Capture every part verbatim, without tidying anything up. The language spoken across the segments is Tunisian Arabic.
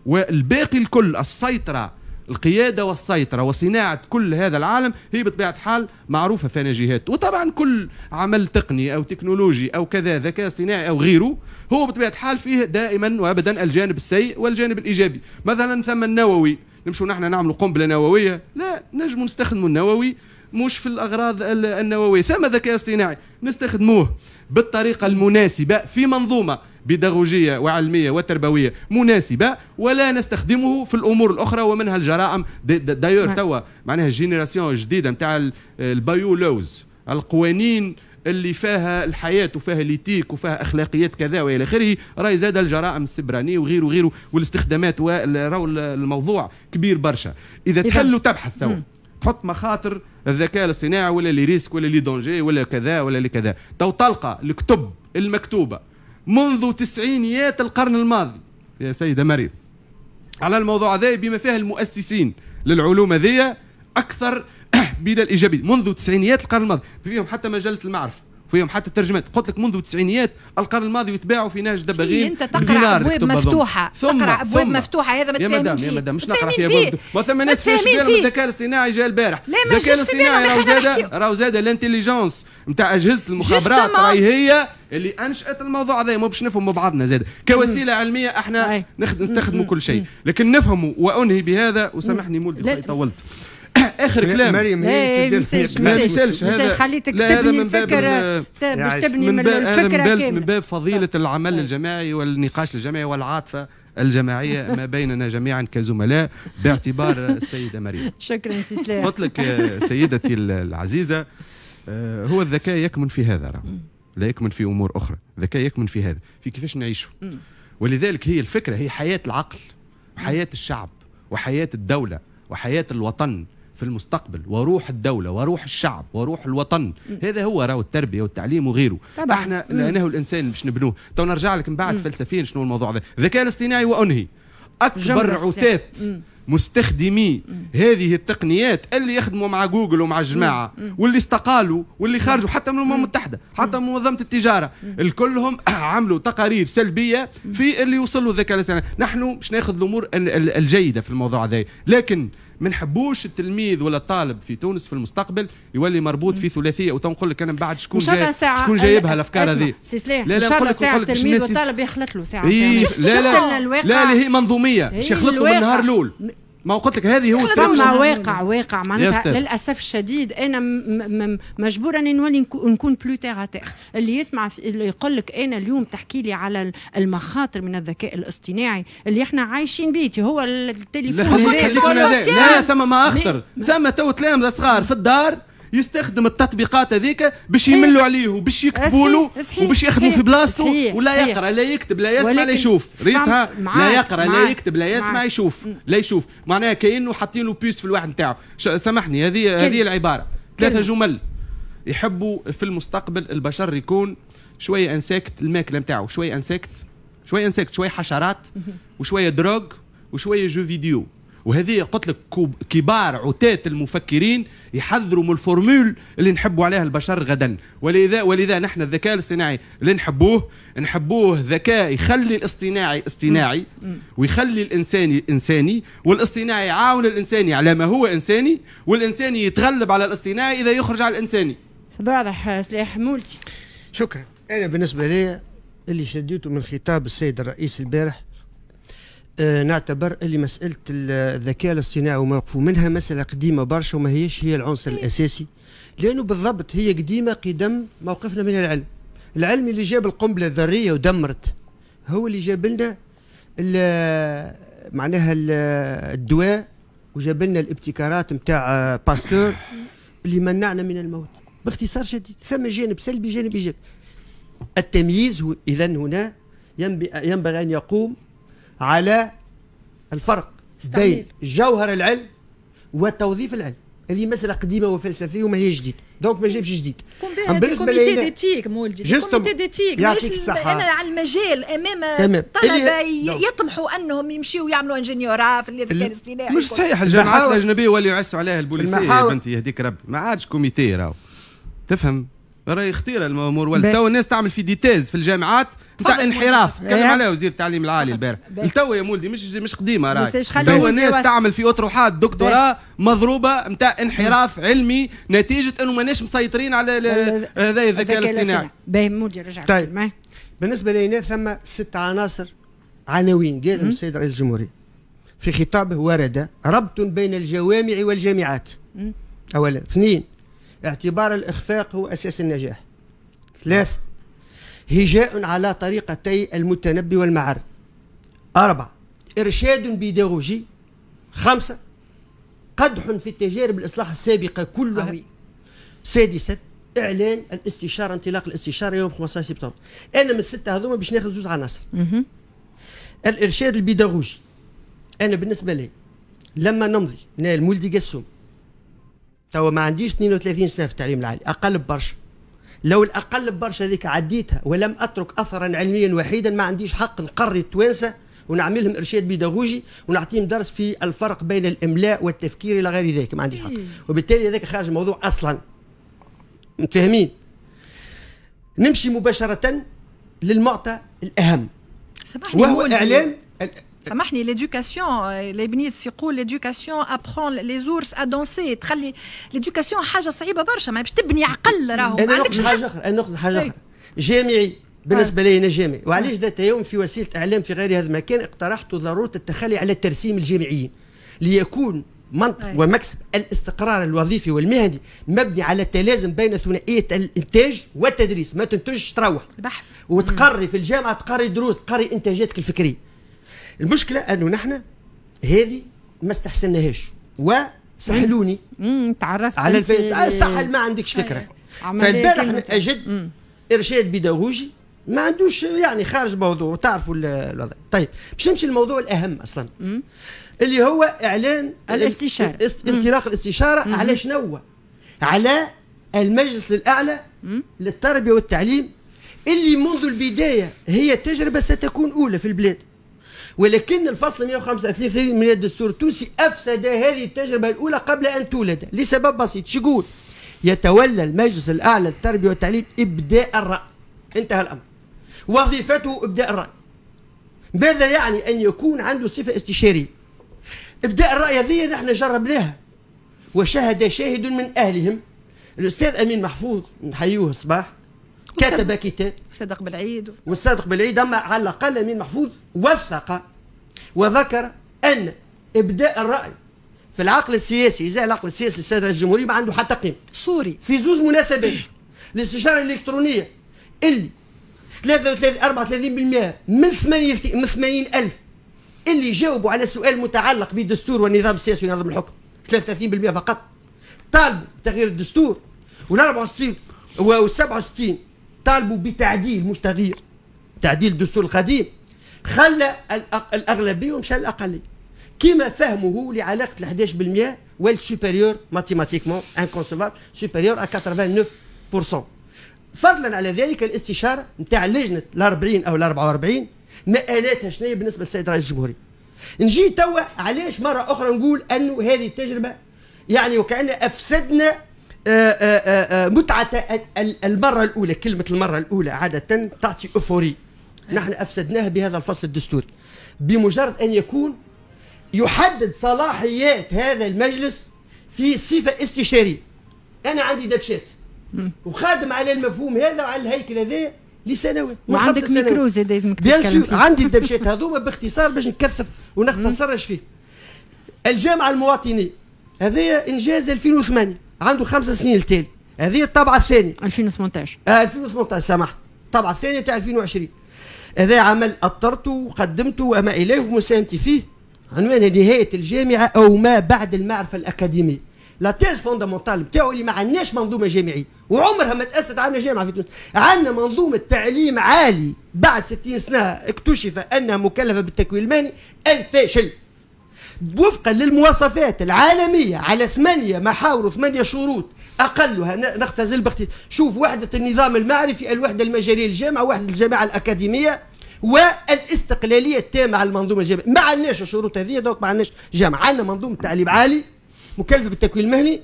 والباقي الكل السيطرة، القيادة والسيطرة وصناعة كل هذا العالم هي بطبيعة الحال معروفة في جهات. وطبعا كل عمل تقني أو تكنولوجي أو كذا ذكاء اصطناعي أو غيره هو بطبيعة الحال فيه دائما وأبدا الجانب السيء والجانب الإيجابي. مثلا ثم النووي، نمشوا نحن نعملوا قنبلة نووية؟ لا، نجموا نستخدموا النووي مش في الأغراض النووية. ثم ذكاء اصطناعي نستخدموه بالطريقة المناسبة في منظومة بيداغوجية وعلمية وتربوية مناسبة، ولا نستخدمه في الأمور الأخرى ومنها الجرائم. d'ailleurs توا معناها ال génération الجديدة نتاع ال bio laws، القوانين اللي فيها الحياة وفيها l'éthique وفيها أخلاقيات كذا وإلى آخره، راهي زاد الجرائم السبرانية وغيره وغيره والاستخدامات، راهو الموضوع كبير برشا. إذا تحل وتبحث توا تحط مخاطر الذكاء الاصطناعي ولا les risques ولا les dangers ولا كذا ولا لكذا، تو تلقى الكتب المكتوبة منذ تسعينيات القرن الماضي يا سيدة مريم على الموضوع هذا بما فيها المؤسسين للعلوم هذية أكثر بلا الإيجابية منذ تسعينيات القرن الماضي، فيهم حتى مجلة المعرفة، فيهم حتى الترجمات. قلت لك منذ تسعينيات القرن الماضي يتباعوا في نهج دباغين. انت تقرا ابواب مفتوحة، ثم تقرا ابواب مفتوحة، هذا ما يا مدام يا مدام مش نقرا في ابواب، ما ثم ناس في بالهم الذكاء الاصطناعي جا البارح. لا ما الذكاء الاصطناعي راهو زاد راهو زاد l'intelligence نتاع اجهزة المخابرات راهي هي اللي انشات الموضوع هذا. مو باش نفهموا بعضنا زاد كوسيلة علمية احنا نستخدموا كل شيء، لكن نفهموا. وانهي بهذا وسامحني مولدي طولت. اخر كلام مريم هي ما يسالش هذا، خليتك تبني الفكرة باش تبني من الفكرة كاملة، من باب فضيلة العمل الجماعي والنقاش الجماعي والعاطفة الجماعية ما بيننا جميعا كزملاء باعتبار السيدة مريم. شكرا سي سلاح. قلت لك سيدتي العزيزة، هو الذكاء يكمن في هذا، لا يكمن في امور اخرى. الذكاء يكمن في هذا، في كيفاش نعيشه. ولذلك هي الفكرة هي حياة العقل، حياة الشعب، وحياه الدولة، وحياه الوطن في المستقبل، وروح الدولة وروح الشعب وروح الوطن. م. هذا هو راهو التربية والتعليم وغيره. طبعا. احنا لأنه الإنسان باش نبنوه. تو نرجع لك من بعد فلسفيا شنو الموضوع هذا. الذكاء الاصطناعي وأنهي أكبر عتاة مستخدمي مم. هذه التقنيات اللي يخدموا مع جوجل ومع الجماعة مم. واللي استقالوا واللي خرجوا حتى من الأمم المتحدة، حتى من منظمة التجارة، الكلهم عملوا تقارير سلبية في اللي وصلوا الذكاء الاصطناعي. نحن باش ناخذ الأمور الجيدة في الموضوع هذا، لكن ما نحبوش التلميذ ولا الطالب في تونس في المستقبل يولي مربوط في ثلاثية. وتنقول لك انا من بعد شكون جاي شكون جايبها الافكار هذه. لا لا نقول لك نقول لك التلميذ والطالب يخلط له ساعة. إيه لا لا لا اللي هي منظوميه باش يخلط له من النهار الاول. ما قلت لك هذه هو فما واقع واقع معناتها للاسف الشديد انا مجبوره اني نولي نكون plus terre à terre. اللي يسمع اللي يقول لك انا اليوم تحكي لي على المخاطر من الذكاء الاصطناعي اللي احنا عايشين به، هو التليفون لا, لا ثم ما اخطر، ثم تو تلامذه صغار في الدار يستخدم التطبيقات هذيك باش يملوا عليه وباش يكتبوا له وباش يخدموا في بلاصته، ولا يقرا لا يكتب لا يسمع لا يشوف. ريتها لا يقرا لا يكتب لا يسمع يشوف لا يشوف، معناها كأنه حاطين له puce في الواحد نتاعو. سامحني هذه هذه العبارة ثلاثة جمل يحبوا في المستقبل البشر يكون شوية insectes، الماكلة نتاعو شوية insectes، شوية insectes، شوية حشرات وشوية drogue وشوية jeux vidéo. وهذه قلت لك كبار عتاة المفكرين يحذروا من ال formule اللي نحبوا عليها البشر غدا. ولذا ولذا نحن الذكاء الاصطناعي اللي نحبوه نحبوه ذكاء يخلي الاصطناعي اصطناعي ويخلي الانساني انساني، والاصطناعي يعاون الانساني على ما هو انساني، والانساني يتغلب على الاصطناعي اذا يخرج على الانساني. واضح سلاح مولتي. شكرا. انا بالنسبة لي اللي شديته من خطاب السيد الرئيس البارح، آه نعتبر اللي مسألة الذكاء الاصطناعي وموقفه منها مسألة قديمة برشا وما هيش هي العنصر الأساسي، لأنه بالضبط هي قديمة قدم موقفنا من العلم. العلم اللي جاب القنبلة الذرية ودمرت هو اللي جاب لنا معناها الدواء وجاب لنا الابتكارات نتاع باستور اللي منعنا من الموت. باختصار شديد ثم جانب سلبي جانب إيجابي. التمييز إذا هنا ينبغي أن يقوم على الفرق بين جوهر العلم وتوظيف العلم. هذه مسألة قديمة وفلسفية وما هي جديدة، donc ما جابش جديد. بالنسبة comité d'éthique مولدي، comité d'éthique ماهيش انا على المجال امام طلبة يطمحوا انهم يمشيوا يعملوا ingéniorat في الذكاء الاصطناعي. مش صحيح، الجامعات الأجنبية واللي يعسوا عليها البوليسية يا بنتي يهديك ربي، ما عادش comité راهو تفهم. راهي خطيرة الامور، ولا تو الناس تعمل في des thèses في الجامعات نتاع انحراف، تكلم عليها وزير التعليم العالي البارح. التو يا مولدي مش مش قديمة راهي، تو الناس تعمل في اطروحات دكتوراه مضروبة نتاع انحراف علمي نتيجة انه ماناش مسيطرين على هذا الذكاء الاصطناعي. باهي مولدي رجع. طيب بالنسبة لنا ثم ست عناصر عناوين قالهم السيد رئيس الجمهورية في خطابه، ورد ربط بين الجوامع والجامعات اولا، اثنين اعتبار الإخفاق هو أساس النجاح، ثلاث هجاء على طريقتي المتنبي والمعري، أربعة إرشاد بيداغوجي، خمسة قدح في التجارب الإصلاح السابقة كلها، سادسا إعلان الاستشارة، انطلاق الاستشارة يوم خمسة عشر سبتمبر. أنا من الستة هذوما باش ناخذ زوز عناصر. الإرشاد البيداغوجي أنا بالنسبة لي لما نمضي المولدي قسوم توا ما عنديش اثنين وثلاثين سنة في التعليم العالي، اقل ببرشا، لو الاقل ببرشا هذيك عديتها ولم اترك اثرا علميا وحيدا ما عنديش حق نقري التوانسة ونعمل لهم ارشاد بيداغوجي ونعطيهم درس في الفرق بين الاملاء والتفكير الى غير ذلك، ما عنديش حق، وبالتالي هذاك خارج الموضوع اصلا. متفاهمين؟ نمشي مباشرة للمعطى الاهم سامحني وهو اعلان. سامحني l'éducation ليبنيتس يقول l'éducation apprend les ours à danser، تخلي l'éducation حاجة صعيبة برشا، ما باش تبني عقل راهو ما عندكش حاجة اخرى. انا نقصد حاجة اخرى جامعي بالنسبة لي انا جامعي، وعلاش ذات يوم في وسيلة اعلام في غير هذا المكان اقترحت ضرورة التخلي على الترسيم الجامعيين ليكون منطق أي. ومكسب الاستقرار الوظيفي والمهني مبني على التلازم بين ثنائية الانتاج والتدريس، ما تنتجش تروح البحث وتقري في الجامعة، تقري دروس، تقري انتاجاتك الفكرية. المشكلة انه نحن هذه ما استحسناهاش وسحلوني. امم تعرفت على الفيس سحل ما عندكش فكرة. فالبارح اجد ارشاد بيداغوجي ما عندوش يعني خارج موضوع، تعرفوا الوضع. طيب باش نمشي للموضوع الاهم اصلا مم. اللي هو اعلان الاستشارة، انطلاق الاستشارة مم. على شنو؟ على المجلس الاعلى مم. للتربية والتعليم اللي منذ البداية هي تجربه ستكون اولى في البلاد، ولكن الفصل مئة وخمسة وثلاثين من الدستور التونسي افسد هذه التجربة الاولى قبل ان تولد لسبب بسيط. شو يقول؟ يتولى المجلس الاعلى للتربية والتعليم ابداء الراي، انتهى الامر. وظيفته ابداء الراي. ماذا يعني ان يكون عنده صفة استشارية؟ ابداء الراي هذه نحن جربناها وشهد شاهد من اهلهم، الاستاذ امين محفوظ نحيوه الصباح كتب كتاب والصادق بالعيد، والصادق بالعيد، اما على الاقل امين محفوظ وثق وذكر ان ابداء الراي في العقل السياسي، اذا العقل السياسي للسيد رئيس الجمهورية ما عنده حتى قيمة. صوري في زوز مناسبات، الاستشارة الالكترونية اللي ثلاثة وثلاثين أربعة وثلاثين بالمئة من ثمانين من ثمانين ألف اللي جاوبوا على سؤال متعلق بالدستور والنظام السياسي ونظام الحكم، ثلاثة وثلاثين بالمئة فقط طالبوا بتغيير الدستور، وال أربعة وستين وال سبعة وستين طالبوا بتعديل مش تغيير، تعديل الدستور القديم. خلى الأغلبية ومشى الأقلية كما فهمه لعلاقة ال أحد عشر بالمئة وال supérieur mathématiquement inconcevable supérieur à quatre-vingt-neuf pour cent. فضلا على ذلك الاستشارة نتاع لجنة ال أربعين او ال أربعة وأربعين مآلاتها شنو بالنسبة للسيد رئيس الجمهورية. نجي توا علاش مرة اخرى نقول انه هذه التجربة يعني وكأن افسدنا آآ آآ متعه المرة الاولى. كلمة المرة الاولى عادة تعطي euphorie، نحن افسدناها بهذا الفصل الدستوري بمجرد ان يكون يحدد صلاحيات هذا المجلس في صفة استشارية. انا عندي دبشات وخادم على المفهوم هذا وعلى الهيكل هذا لسنوات. وعندك ميكرو زاد لازمك تتكلم فيه. عندي الدبشات هذوما باختصار باش نكثف ونختصرش فيه. الجامعة المواطنيه هذه انجاز ألفين وثمانية، عنده خمس سنين التالي. هذه الطبعة الثانية ألفين وثمنطاش آه ألفين وثمنطاش سامحني، الطبعة الثانية تاع ألفين وعشرين. هذا عمل اطرته وقدمته وما اليه ومساهمتي فيه، عنوان نهاية الجامعة او ما بعد المعرفة الاكاديمية. la thèse fondamentale نتاعو اللي ما عندناش منظومة جامعية وعمرها ما تاسست عندنا جامعه في تونس، عندنا منظومة تعليم عالي بعد ستين سنة اكتشف انها مكلفة بالتكوين المهني الفاشل وفقا للمواصفات العالمية على ثمانية محاور وثمانية شروط اقلها نختزل باختصار. شوف وحده النظام المعرفي، الوحدة المجاليه للجامعة، وحده الجامعة الاكاديمية، والاستقلاليه التامة على المنظومة الجامعية. ما عندناش الشروط هذه، donc ما عندناش جامعه، عندنا منظومة تعليم عالي مكلفة بالتكوين المهني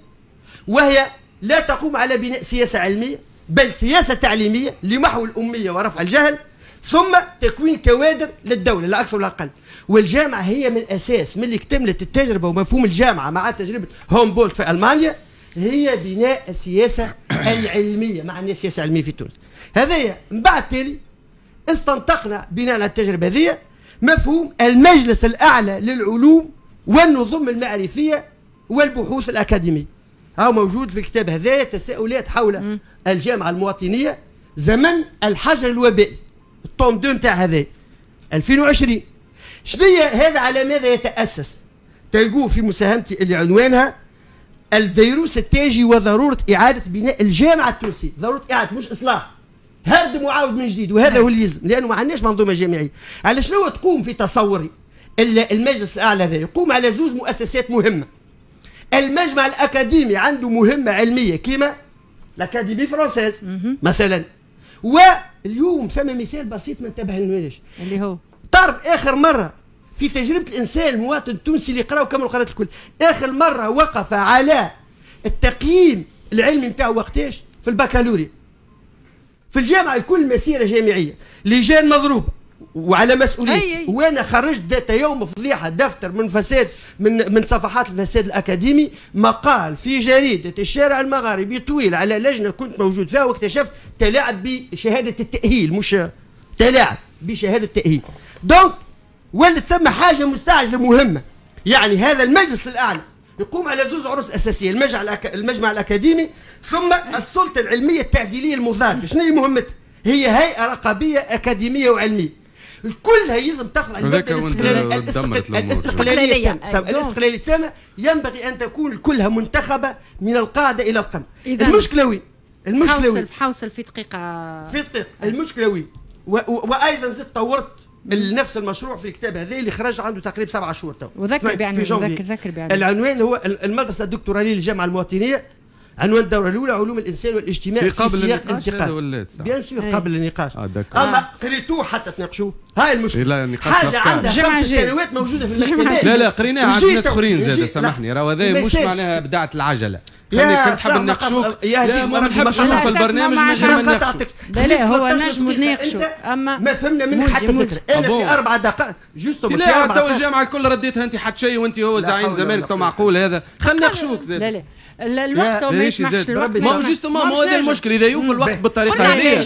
وهي لا تقوم على بناء سياسة علمية، بل سياسة تعليمية لمحو الامية ورفع الجهل، ثم تكوين كوادر للدولة لا اكثر ولا اقل. والجامعة هي من الاساس من اللي اكتملت التجربة ومفهوم الجامعة مع تجربه هومبولت في المانيا هي بناء السياسة العلمية، مع عندنا سياسة علمية في تونس. هذايا من بعد تالي استنطقنا بناء على التجربة هذه مفهوم المجلس الاعلى للعلوم والنظم المعرفيه والبحوث الاكاديمية. هاو موجود في الكتاب هذايا تساؤلات حول الجامعة المواطنيه زمن الحجر الوبائي، ال tome deux نتاع هذا ألفين وعشرين. شنو هذا؟ على ماذا يتاسس؟ تلقوه في مساهمتي اللي عنوانها الفيروس التاجي وضرورة اعاده بناء الجامعة التونسية، ضرورة اعاده مش اصلاح، هردم وعاود من جديد، وهذا هو اللي يلزم لانه ما عندناش منظومة جامعية. على شنو تقوم في تصوري المجلس الاعلى هذا؟ يقوم على زوز مؤسسات مهمة. المجمع الاكاديمي عنده مهمة علمية كيما l'Académie française مثلا. واليوم ثم مثال بسيط ما انتبه لناش اللي هو تعرف اخر مرة في تجربه الانسان المواطن التونسي اللي قرا وكمل القراءات الكل، اخر مرة وقف على التقييم العلمي نتاعو وقتاش؟ في البكالوريا. في الجامعة الكل مسيره جامعية، لجان مضروبة وعلى مسؤولية. وانا خرجت ذات يوم فضيحة دفتر من فساد من من صفحات الفساد الاكاديمي، مقال في جريدة الشارع المغاربي طويل على لجنة كنت موجود فيها، واكتشفت تلاعب بشهادة التاهيل، مش تلاعب بشهادة التاهيل. donc ولت ثم حاجة مستعجلة مهمة، يعني هذا المجلس الاعلى يقوم على زوز عروس اساسية، المجمع الأك... المجمع الاكاديمي ثم السلطة العلمية التعديليه المضادة. شنو هي مهمتها؟ هي هيئة رقابية اكاديمية وعلميه. كلها يلزم تخضع الاستقلالية التامة. الاستقلالية التامة ينبغي ان تكون كلها منتخبه من القاعدة الى القمه. المشكلة وين؟ المشكلة وين؟ حوصل في دقيقة في دقيقة. المشكلة وين؟ وايضا زدت طورت نفس المشروع في الكتاب هذا اللي خرج عنده تقريبا سبعة شهور تو. وذكر بعنوان، ذكر ذكر بعنوان. العنوان هو المدرسة الدكتوراليه للجامعة المواطنيه، عنوان الدورة الاولى علوم الانسان والاجتماع في قابل سياق للنقاش انتقال. bien sûr قابل للنقاش. آه اما قريتوه حتى تناقشوه، هاي المشكلة. حاجة عندها خمس سنوات موجودة في المكتبات. لا لا قريناها عند ناس اخرين زاد، سامحني راهو هذا مش معناها بدعة العجلة. خليني كنت حاب نناقشوك، لا ما نحبش نشوف البرنامج من غير ما نناقشوك. لا لا هو نجم نناقشوا، اما ما فهمنا منك حتى فكرة. انا في اربع دقائق juste في اربع دقائق. الجامعة الكل رديتها انت حتى شيء، وانت هو زعيم زمانك، تو معقول هذا؟ خلينا نناقشوك زاد. لا لا الوقت ما يسمحش. الوقت ما هو justement ما هو هذا المشكل، اذا يوفى الوقت بالطريقة هذه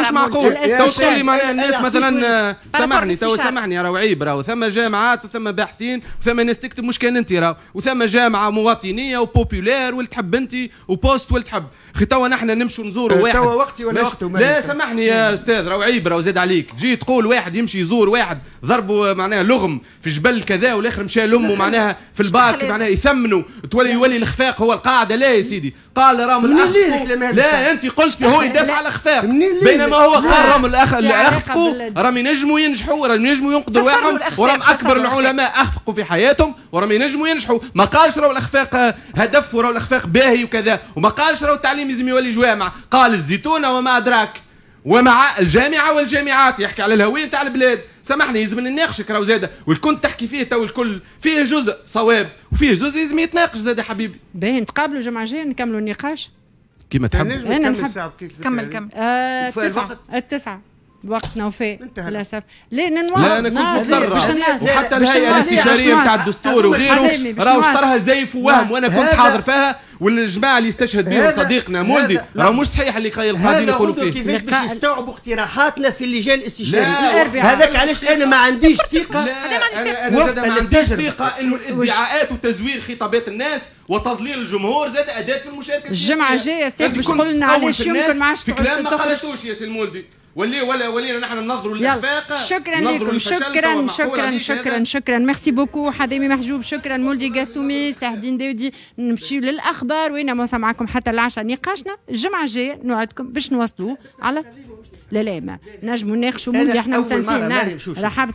مش معقول. تو تقول لي معناها الناس مثلا سامحني تو سامحني راهو عيب، راهو ثم جامعات وثم باحثين وثم ناس تكتب، مش كان انت راهو، وثم جامعه مواطنيه و populaire واللي تحب انت و poste واللي تحب. اخي توا نحن نمشوا نزوروا واحد توا وقتي ولا وقته؟ لا سامحني يا استاذ راهو عيب، راهو زاد عليك تجي تقول واحد يمشي يزور واحد ضربه معناها لغم في جبل كذا والاخر مشى لامه معناها في الباك معناها يثمنوا تولي يولي الخفاق هو القاعدة. لا يا سيدي، قال راهم الاخ، لا انت قلت هو يدافع على الخفاق، بينما هو قال راهم الاخ اللي اخفقوا راهم ينجموا ينجحوا، راهم ينجموا ينقذوا رواحهم، وراهم اكبر العلماء اخفقوا في حياتهم وراهم ينجموا ينجحوا. ما قالش راهو الاخفاق هدف وراهو الاخفاق باهي وكذا، وما قالش راهو التعليم لازم يولي جوامع، قال الزيتونه وما ادراك ومع الجامعة والجامعات، يحكي على الهوية نتاع البلاد. سامحني لازم نناقشك راهو زاده، والكل تحكي فيه تو الكل فيه جزء صواب وفيه جزء لازم يتناقش زاده حبيبي. باهي نتقابلوا الجمعة الجاية نكملوا النقاش كيما تحب. انا نحب كمل كمل. آه التسعة التسعة وقتنا وفاء للاسف. لا ننواصل. لا انا كنت مضطر، وحتى الهيئة الاستشارية نتاع الدستور وغيره راهو اشتراها زيف ووهم، وانا كنت حاضر فيها، والجماعة اللي استشهد بهم صديقنا مولدي راه مش صحيح اللي قاعدين يقولوا فيه. كيفاش باش يستوعبوا اقتراحاتنا في اللجان الاستشارية؟ هذاك علاش انا ما عنديش ثقة. انا ما عنديش ما عنديش ثقة انه الادعاءات وتزوير خطابات الناس وتضليل الجمهور زاد اداه في المشاركة. الجمعة الجاية استاذ باش تقول لنا علاش يمكن ما عادش في كلام ما قالتوش يا سي المولدي، ولي ولا ولينا نحن ننظروا للاخفاق. شكرا لكم، شكرا شكرا شكرا شكرا، merci beaucoup حذامي محجوب، شكرا مولدي قاسومي، سلاح الدين داودي. نمشيو للاخبار وين نواصل معكم حتى العشاء نقاشنا الجمعة الجاية، نوعدكم باش نواصلوه على لا لا ما نجموا نناقشوا مولدي احنا مسنسين. رحابة.